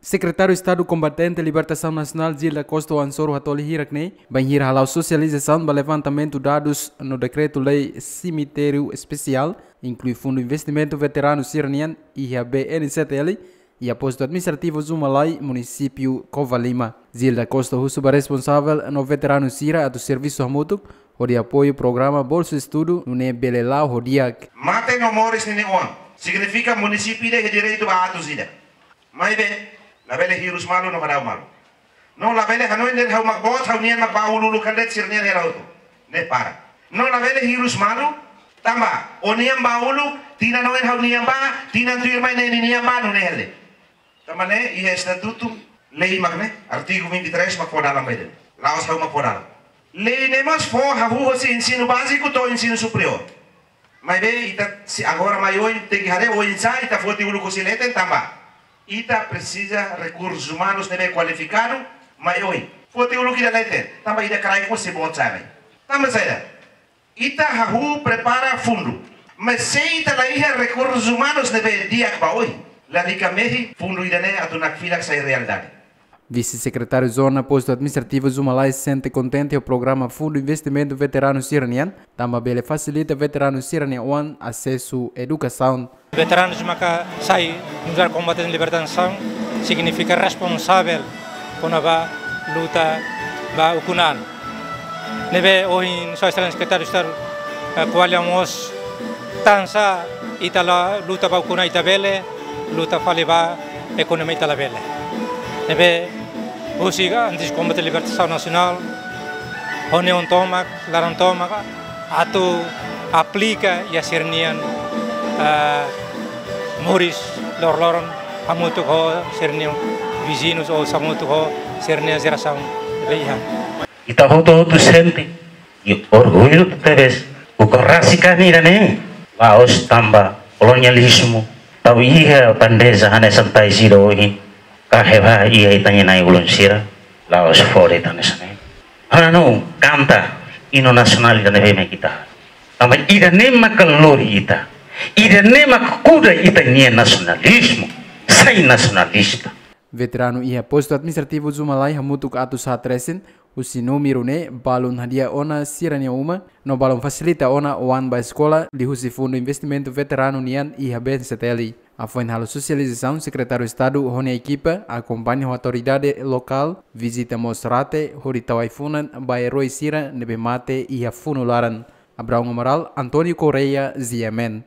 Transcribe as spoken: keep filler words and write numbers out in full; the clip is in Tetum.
Sekretáriu Estadu Kombatente Libertasaun Nasionál Gil da Costa Ansoro Hatoli hirak ne'e, bainhira hala'o sosializasaun ba levantamentu dadus no dekretu-lei Semitériu Espesiál, inklui Fundu Investimentu Veteranu sira-nian iha B N C T L, iha Postu Administrativu Zumalai, Munisípiu Covalima. Gil da Costa husu ba responsavel no veteranu sira atu servisu hamutuk hodi apoiu programa Bolsa Estudu, nune'e bele la'o ho di'ak. Mate no moris ninia oan. Signifika munisípiu ida iha direitu ba atus ida. Maibé, labele hirus malu no hadau malu. No labele hanoin dehan ha'u mak boot, ha'u-nian mak ba uluk-uluk kan de'it sira-nian hela hotu. Ne'e para. No labele hirus malu, tanba ó-nian ba uluk, tinan oin ha'u-nian ba, tinan tuirmai ne'e ninian ba, nune'e hela. Tanba ne'e, iha estatutu, lei mak ne'e, artigu vinte e três mak fó dalan ba ida. La'ós ha'u mak fó dalan. Lei ne'e mós fó hahú hosi ensinu báziku to'o ensinu superiór. Maibé ita, se agora mai oin tenke haree oinsá ita foti uluk hosi leten tanba ita presiza rekursus umanus ne'ebé kualifikadu mai oin. Foti uluk ida leten, tanba ida kraik mós sei boot sa'e mai. Tanba saida? Ita hahú prepara fundu. Mas se ita la iha rekursus umanus ne'ebé di'ak ba oin, lalika mehi fundu ida-ne'e atu nakfilak sai realidade. Vise-Sekretáriu Zona Postu Administrativu Zumalai sente kontente ho programa Fundu Investimentu Veteranu sira-nian, tanba bele fasilita veteranu sira-nia oan asesu edukasaun. Veteranus maka sai nu'udar kombatente libertasaun, signifika responsavel kona-ba luta ba ukun an. Ne'ebé ohin Sua Exelénsia Sekretáriu Estadu, eh, ko'alia mós tansá ita la luta ba ukun an ita bele, luta fali ba ekonomia ita labele. Ne'ebé husi antes Kombatente Libertasaun Nasionál, ho neon tomak, laran tomak, atu aplika iha sira-nian, ah, moris loroloron, hamutuk ho sira-nian viziñus ou hamutuk ho sira-nian jerasaun ne'ebé iha. Ita hotu-hotu sente, i orgullu tebes, ukun rasik ami ida-ne'e, la'ós tanba kolonializmu, tau iha bandeja hanesan tais ida ohin, kahe ba iha ita-nia na'i-ulun sira, la'ós fó de'it hanesan ne'e. Hanoin, kanta, inu nasionál ida-ne'ebé mak ita. Tanba ida-ne'e maka lori ita, ida-ne'e maka kuda ita-nia nasionalizmu, sai nasionalista. Veteranu iha Postu Administrativu Zumalai hamutuk atus haat resin, husi númeru ne'e balun hadi'a ona sira-nia uma, no balun fasilita ona oan ba eskola, liuhusi Fundu Investimentu Veteranu nian iha B N C T L. Hafoin halo sosializasaun, Sekretáriu Estadu ho nia ekipa akompaña ho autoridade lokál, vizita mós rate, hodi tau ai-funan ba eroi sira ne'ebé mate iha funu laran. Abraão Amaral, António Correia, G M N.